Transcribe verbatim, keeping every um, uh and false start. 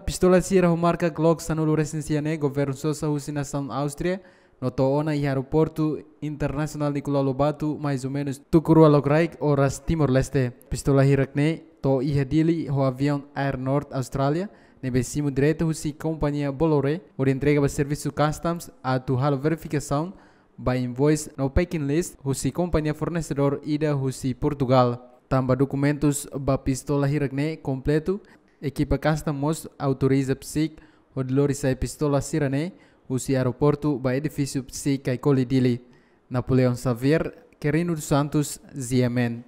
Pistola sira ho marka Glock sanulu resin sia ne'e governu sosa husi nasaun Áustria no to'o ona iha aeroportu internasionál Nicolau Lobato, mais ou menus tuku rua lokraik oras Timor-Leste. Pistola hirak ne'e to'o iha Dili ho aviaun Air North Austrália, ne'ebé simu direta husi kompañia Bolloré, hodi entrega ba servisu customs atu halo verifikasaun ba invoice no packing list husi kompañia fornesedór ida husi Portugál. Tanba dokumentus ba pistola hirak ne'e kompletu, ekipa customs mós autoriza PCIC hodi lori sai pistola sira ne'e husi aeroportu ba edifísiu PCIC Caicoli Dili. Napoleão Xavier, Quirino dos Santos, G M N.